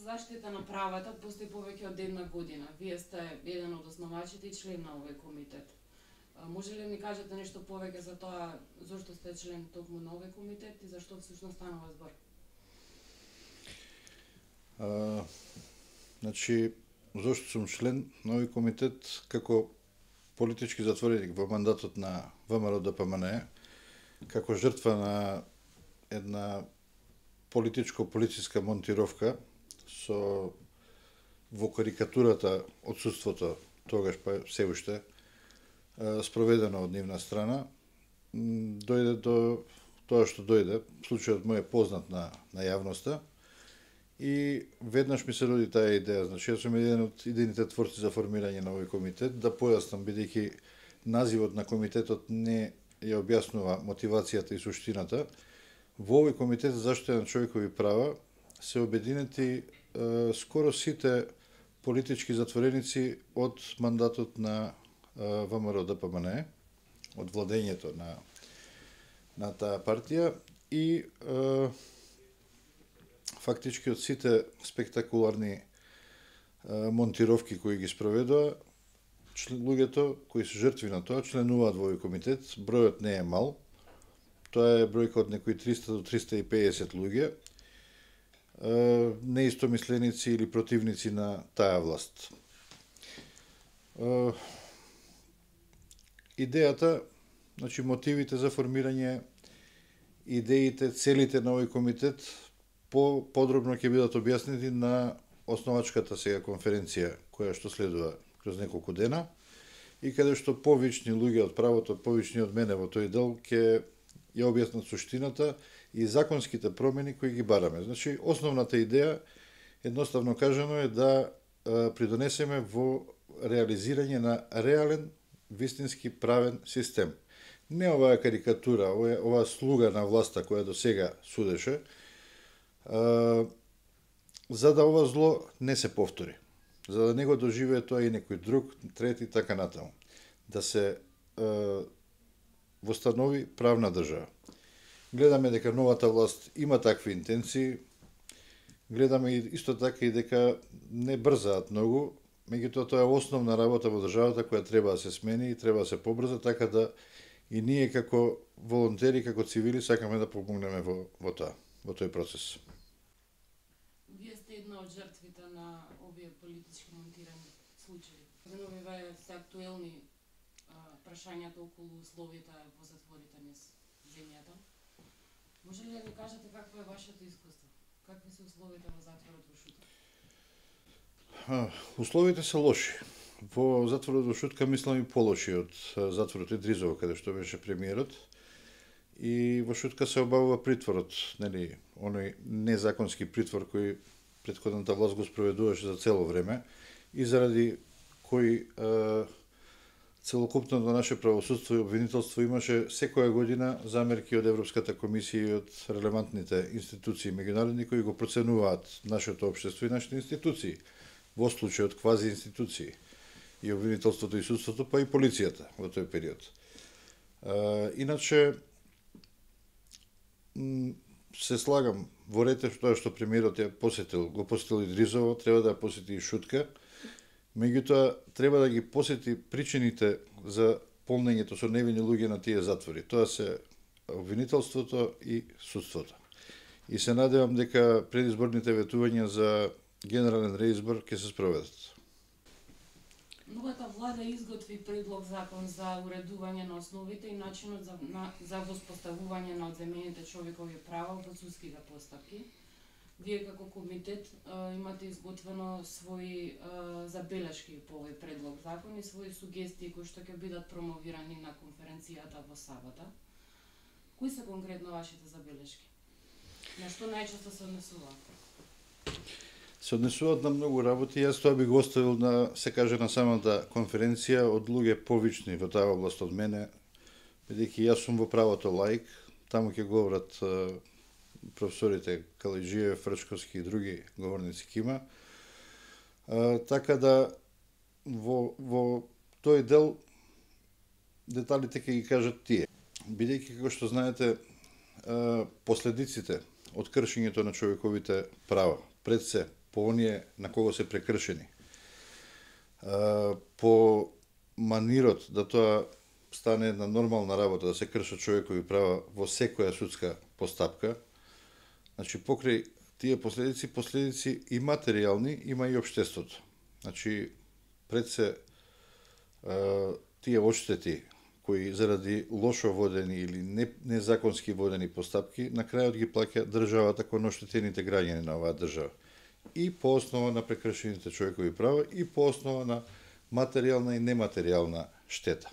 заштита на правата постои повеќе од една година. Вие сте еден од основачите и член на овој комитет. Може ли да ни кажете нешто повеќе за тоа зошто сте член токму на овој комитет и зашто всушност станува збор? Значи, зошто сум член на овој комитет како политички затвореник во мандатот на ВМРО-ДПМНЕ, како жртва на една политичко-полициска монтировка со во карикатурата отсутството тогаш па се уште спроведено од нивна страна, дојде до тоа што дојде. Случајот му е познат на јавноста и веднаш ми се роди таа идеја. Значи, јас сум еден од идејните творци за формирање на овој комитет. Да појаснам, бидејќи називот на комитетот не ја објаснува мотивацијата и суштината, во овој комитет за заштита на човекови права се обединети скоро сите политички затвореници од мандатот на ВМРО-ДПМНЕ, од владењето на таа партија и фактички од сите спектакуларни монтировки кои ги спроведува, луѓето кои се жртви на тоа членуваат во овој комитет. Бројот не е мал. Тоа е бројка од некои 300 до 350 луѓе, неистомисленици или противници на таа власт. Идејата, значи мотивите за формирање, идеите, целите на овој комитет подробно ќе бидат објаснети на основачката сега конференција која што следува кроз неколку дена и каде што повични луѓе од правото, повични од мене во тој дел ќе ја објаснат суштината и законските промени кои ги бараме. Значи, основната идеја, едноставно кажано, е да придонесеме во реализирање на реален, вистински правен систем. Не оваа карикатура, оваа слуга на власта која до сега судеше, за да ова зло не се повтори. За да не го доживее тоа и некој друг, трети, така натаму. Да се востанови правна држава. Гледаме дека новата власт има такви интенции, гледаме исто така и дека не брзаат многу, меѓутоа тоа е основна работа во државата која треба да се смени и треба да се побрза, така да и ние како волонтери, како цивили сакаме да помогнеме во тој процес. Вие сте една од жртвите на овие политички монтирани случаи. Вие се актуелни прашањата околу условите во затворите низ земјата. Може ли да ни кажете какво е вашето искуство? Какви се условите во затворот во Шутка? Условите се лоши. Во затворот во Шутка мислам и полоши од затворот Идризово, каде што беше премиерот. И во Шутка се обавува притворот, нели, оној незаконски притвор кој претходната власт го спроведуваше за цело време и заради кој целокупното наше правосудство и обвинителство имаше секоја година замерки од Европската комисија и од релевантните институции меѓународни кои го проценуваат нашето општество и нашите институции, во случајот квази институции, и обвинителството и судството, па и полицијата во тој период. Иначе, се слагам во рете тоа што премиерот го посетил Идризово, треба да ја посети и Шутка, меѓутоа треба да ги посети причините за полнењето со невини луѓе на тие затвори. Тоа се обвинителството и судството. И се надевам дека предизборните ветувања за генерален реизбор ќе се спроведат. Новата влада изготви предлог закон за уредување на основите и начинот за воспоставување на одземените човекови права во судските постапки. Вие како комитет имате изготвено своји забелешки по овој предлог закон и своји сугестии кои што ќе бидат промовирани на конференцијата во сабота. Кои се конкретно вашите забелешки? На што најчесто се однесуваат? Се однесуваат на многу работи. Јас тоа би го оставил на, се каже, на самата конференција од луѓе повични во таа област од мене, бидејќи јас сум во правото лаик, таму ќе говорат професорите Калиджиев, Фрчковски и други говорници кима. Така да во тој дел деталите ќе ги кажат тие. Бидејќи, како што знаете, последиците од кршењето на човековите права, пред се по оние на кого се прекршени. По манирот да тоа стане една нормална работа, да се кршат човекови права во секоја судска постапка, значи покрај тие последици и материјални, има и општеството. Значи, пред се тие одштети кои заради лошо водени или незаконски водени постапки, на крајот ги плаќа државата кон оштетените граѓани на оваа држава. И по основа на прекршените човекови права, и по основа на материјална и нематеријална штета.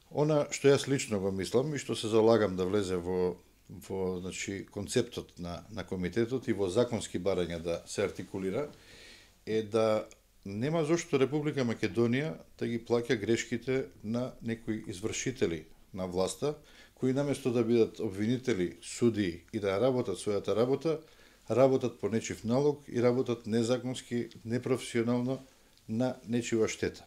Она што јас лично го мислам и што се залагам да влезе во значи, концептот на комитетот и во законски барања да се артикулира, е да нема зошто Република Македонија да ги плаќа грешките на некои извршители на власта, кои наместо да бидат обвинители, суди и да работат својата работа, работат по нечив налог и работат незаконски, непрофесионално на нечива штета.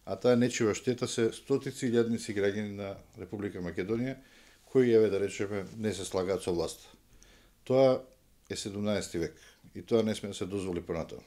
А таа нечива штета се стотици илјадници граѓани на Република Македонија, кои, еве да речеме, не се слагаат со власта. Тоа е 17 век и тоа не сме да се дозволи понатаму.